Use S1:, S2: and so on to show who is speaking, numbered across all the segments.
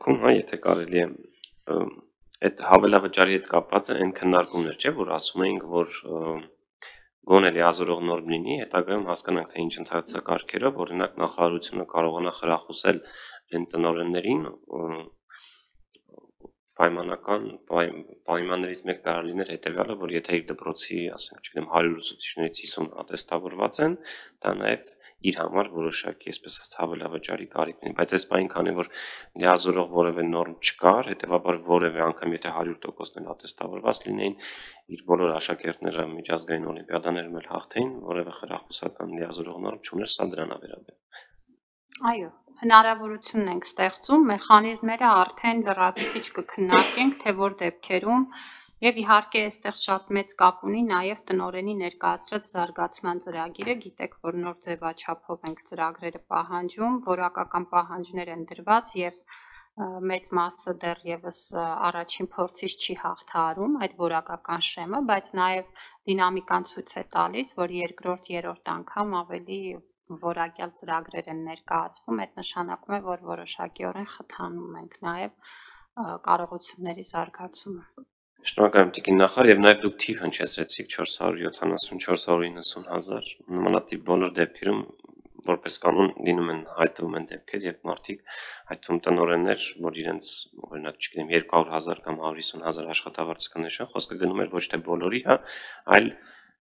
S1: դեպքում, հա, եթե կարելի է այդ հավելավճարի հետ կապված է այն քննարկումներ, չէ, որ ասում էինք, որ գոնե լիազորող նորմ լինի, հետագայում հասկանանք, թե ինչ ընթացակարգերով, օրինակ նախարարությունը կարողանա խրախուսել այն տնօրեններին պայմանական պայմաններից մեկ կարող լիներ հետևյալը, որ եթե իր դպրոցի, ասենք, չգիտեմ, 100 ուսուցիչներից 50 ատեստավորված են, դա նաև իր համար որոշակի, այսպես ասած, հավելավճարի կարիք ունի, բայց այս պայն քանի որ լիազորող որևէ նորմ չկար, հետևաբար որևէ անգամ եթե 100%-ն ատեստավորված լինեին, իր բոլոր աշակերտները միջազգային օլիմպիադաներում էլ հաղթեին, որևէ խրախուսական լիազորող նորմ չուներ, սա դրան է վերաբերում։
S2: Այո, հնարավորությունն ենք ստեղծում, մեխանիզմները արդեն լրացուցիչ կքննարկենք, թե որ դեպքերում եւ իհարկե այստեղ շատ մեծ կապ ունի նաեւ տնօրենի ներկայացրած զարգացման ծրագիրը, գիտեք, որ նոր ձևաչափով ենք ծրագրերը պահանջում, որակական պահանջներ են դրված եւ մեծ մասը դեռևս առաջին փորձից չի հաղթահարում այդ որակական շեմը, բայց նաեւ դինամիկան ցույց է տալիս, որ երկրորդ, երրորդ անգամ ավելի որակյալ ծրագրեր են ներկայացվում, այդ նշանակում է, որ որոշակիորեն խթանում ենք նաև կարողությունների զարգացումը։
S1: Շնորհակալ եմ Տիկին նախարար եւ նաև դուք թիվ հնչեցրեցիք 470-490 հազար, նմանատիպ բոլոր դեպքերում որպես կանոն լինում են հայտնվում են դեպքեր, երբ մարդիկ հայտնվում տնօրեններ, որ իրենց օրինակ, չգիտեմ, 200,000 կամ 150,000 աշխատավարձ կնշան, խոսքը գնում էր ոչ թե բոլորի, հա, այլ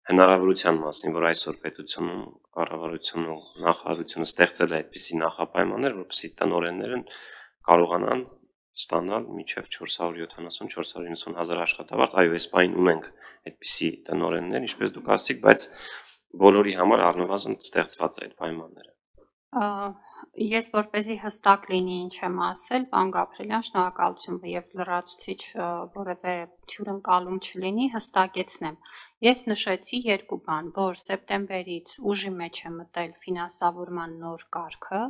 S1: հնարավորության մասին, որ այսօր պետությունում, կառավարությունը, նախարարությունը ստեղծել է այդպիսի նախապայմաններ, որպեսզի տնօրենները կարողանան ստանալ մինչև 470-490 հազար աշխատավարձ, այո, այս պայն ունենք այդպիսի տնօրեններ, ինչպես դուք ասացիք, բայց բոլորի համար առնվազն ստեղծված է այդ պայմանները։
S2: Ես որպեսզի հստակ լինի ինչ եմ ասել, պարոն Գաբրելյան, շնորհակալություն եւ լրացուցիչ որևէ թյուրընկալում չլինի, հստակեցնեմ։ Ես նշեցի երկու բան, որ սեպտեմբերից ուժի մեջ է մտել ֆինանսավորման նոր կարգը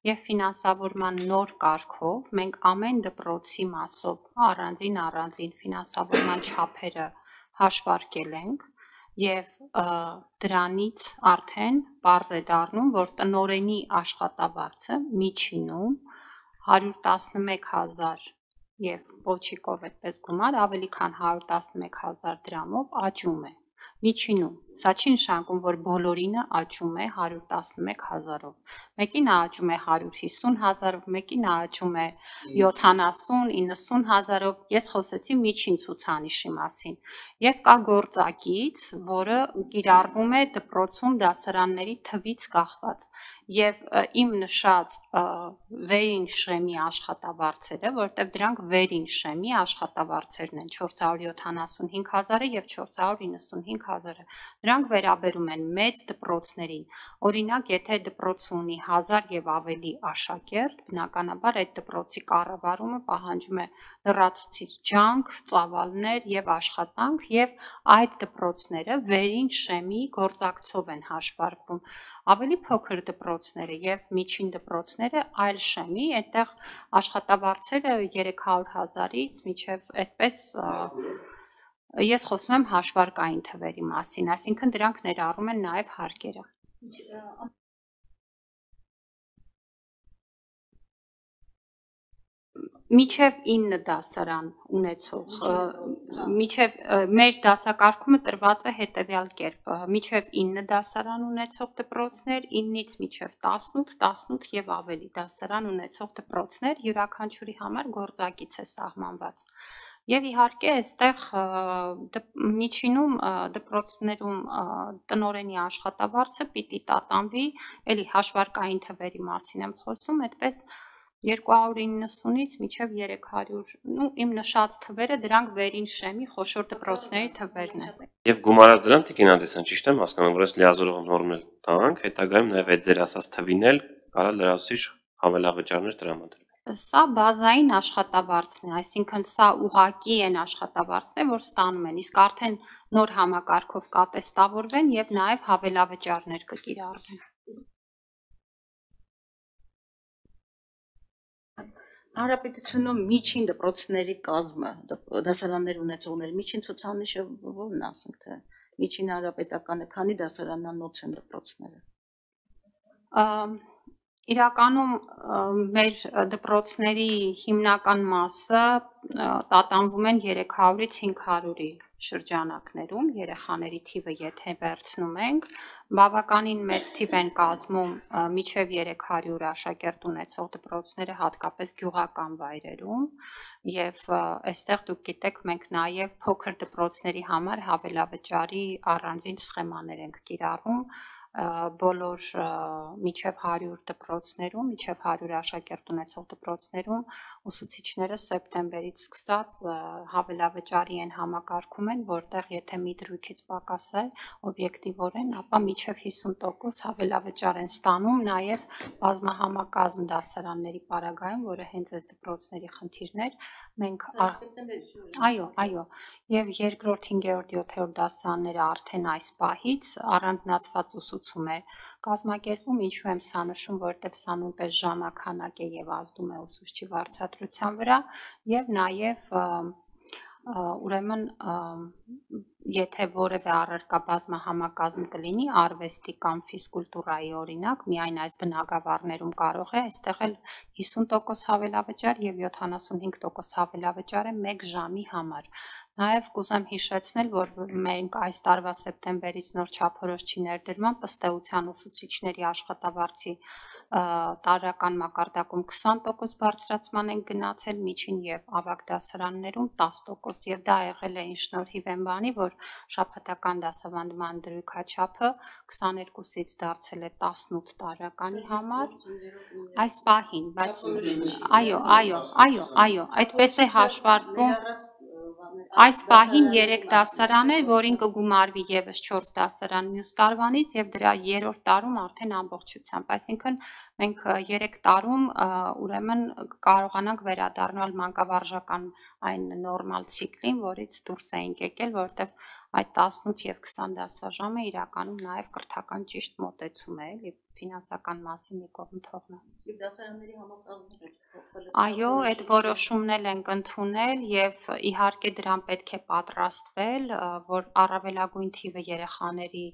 S2: եւ ֆինանսավորման նոր կարգով մենք ամեն դպրոցի մասով առանձին ֆինանսավորման չափերը հաշվարկել ենք եւ դրանից արդեն պարզ է դառնում, որ տնօրենի աշխատավարձը միջինում 111,000 եւ պոչիկով այդպես գումար ավելի քան 111,000 դրամով աճում է միջինում, սա չի նշանակում, որ բոլորինը աճում է 111,000-ով, մեկին աճում է 150,000-ով, մեկին աճում է 70-90,000-ով, ես խոսեցի միջին ցուցանիշի մասին, եւ կա գործակից, որը կիրառվում է դպրոցում դասարանների թվից կախված, եւ իմ նշած վերին շեմի աշխատավարձերը, որտեղ դրանք վերին շեմի աշխատավարձերն են 475,000-ը եւ 495,000-ը, դրանք վերաբերում են մեծ դպրոցներին, օրինակ, եթե դպրոցը ունի 1000 եւ ավելի աշակերտ, բնականաբար այդ դպրոցի կառավարումը պահանջում է լրացուցիչ ջանք, ծավալներ եւ աշխատանք եւ այդ դպրոցները վերին շեմի գործակցով են հաշվարկվում, ավելի փոքր դպրոցները եւ միջին դպրոցները այլ շեմի, այդտեղ աշխատավարձերը 300,000-ից մինչեւ այդպես ես խոսում եմ հաշվարկային թվերի մասին, այսինքն դրանք ներառում են նաեւ հարկերը։ Միջև 9 դասարան ունեցող, միջև մեր դասակարգումը տրված է հետևյալ կերպ, միջև 9 դասարան ունեցող դպրոցներ, 9-ից միջև 18, 18 եւ ավելի դասարան ունեցող դպրոցներ, յուրաքանչյուրի համար գործակից է սահմանված։ Եվ իհարկե այստեղ միջինում դպրոցներում տնօրենի աշխատավարձը պիտի տատանվի, էլի հաշվարկային թվերի մասին եմ խոսում, այդպես 290-ից մինչև 300, իմ նշած թվերը դրանք վերին շեմի խոշոր դպրոցների թվերն են։
S1: Եվ գումարած դրան Տիկին Անդրեասյան, ճիշտ եմ հասկանում, որ այս լիազորող նորմել տանք, հետագայում նաև այդ ձեր ասած թվին էլ կարա լրացուցիչ հավելավճարներ տրամադրվի։
S2: Սա բազային աշխատավարձն է, այսինքն սա ուղղակի են աշխատավարձներ, որ ստանում են, իսկ արդեն նոր համակարգով կատեստավորվեն եւ նաեւ հավելավճարներ կկիրառվեն։
S3: Հանրապետությունում միջին դպրոցների կազմը, դասարաններ ունեցողների միջին ցուցանիշը ո՞րն է, ասենք թե միջին հանրապետականը քանի դասարանանոց են դպրոցները։
S2: Իրականում մեր դպրոցների հիմնական մասը տատանվում են 300-ից 500-ի շրջանակներում, երեխաների թիվը եթե վերցնում ենք, բավականին մեծ թիվ են կազմում մինչև 300 աշակերտ ունեցող դպրոցները հատկապես գյուղական վայրերում եւ այստեղ դուք գիտեք մենք նաեւ փոքր դպրոցների համար հավելավճարի առանձին սխեմաներ ենք կիրառում բոլոր մինչև 100 դպրոցներում, մինչև 100 աշակերտ ունեցող դպրոցներում ուսուցիչները սեպտեմբերից սկսած հավելավճարի են համակարգում են, որտեղ եթե մի դրույքից պակաս է օբյեկտիվորեն, ապա մինչև 50% հավելավճար են ստանում, նաև բազմահամակազմ դասարանների պարագայում, որը հենց այս դպրոցների խնդիրն էր, մենք այո, եւ երկրորդ, 5-րդ, 7-րդ դասարանները արդեն այս պահից առանձնացված ուսուցում է կազմակերպում, ինչու եմ սա նշում, որտեղ սա նույնպես ժամանակ է եւ ազդում է ուսուցչի վարձատրության վրա եւ նաեւ ուրեմն եթե որևէ առարկա բազմահամակազմ կլինի արվեստի կամ ֆիզկուլտուրայի օրինակ, միայն այս բնագավառներում կարող է այստեղ էլ 50% հավելավճար եւ 75% հավելավճար է 1 ժամի համար։ Նաև կուզեմ հիշեցնել, որ մենք այս տարվա սեպտեմբերից նոր չափորոշ չի ներդրման ըստեղության ուսուցիչների աշխատավարձի տարրական մակարդակում 20% բարձրացման են գնացել միջին եւ ավագ դասարաններում 10% եւ դա եղել է ինչ շնորհիվ են բանի, որ շաբաթական դասավանդման դրույքաչափը 22-ից դարձել է 18 տարեկանի համար այս պահին, բայց այո, այդպես է հաշվարկվում այս պահին 3 դասարան է, որին կգումարվի եւս 4 դասարան մյուս տարվանից եւ դրա 3-րդ տարում արդեն ամբողջությամբ, այսինքն մենք 3 տարում ուրեմն կարողանանք վերադառնալ մանկավարժական այն նորմալ ցիկլին, որից դուրս էինք եկել, որտեղ այդ 18 եւ 20 դասաժամը իրականում նաեւ կրթական ճիշտ մոտեցում է, էլի ֆինանսական մասին մի կողմ թողնա։
S3: Եվ դասարանների համակազմը
S2: Այո, այդ որոշումն էլ ենք ընդունել եւ իհարկե դրան պետք է պատրաստվել, որ առավելագույն թիվը երեխաների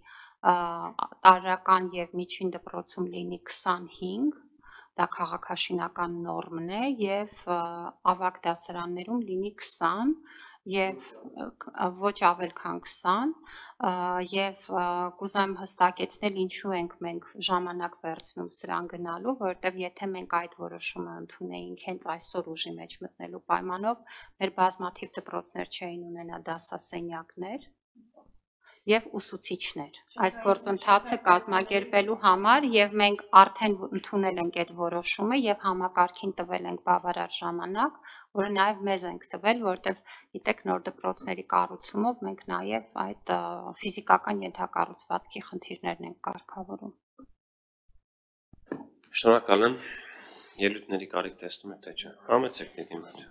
S2: տարրական եւ միջին դպրոցում լինի 25, դա քաղաքաշինական նորմն է եւ ավագ դասարաններում լինի 20 եւ ոչ ավել քան 20 եւ կուզեմ հստակեցնել ինչու ենք մենք ժամանակ վերցնում սրան գնալու, որովհետեւ եթե մենք այդ որոշումը ընդունեինք հենց այսօր ուժի մեջ մտնելու պայմանով, մեր բազմաթիվ դպրոցներ չէին ունենա դասասենյակներ եւ ուսուցիչներ այս գործընթացը կազմակերպելու համար եւ մենք արդեն ընդունել ենք այդ որոշումը եւ համակարգին տվել ենք բավարար ժամանակ, որը նաեւ մեզ ենք տվել, որտեւ գիտեք նոր դպրոցների կառուցումով մենք նաեւ այդ ֆիզիկական ենթակառուցվածքի խնդիրներն ենք կարգավորում։
S1: Շնորհակալ եմ ելույթների կարիք տեսնում եք թե չէ։ Համեցեք դեպի մեր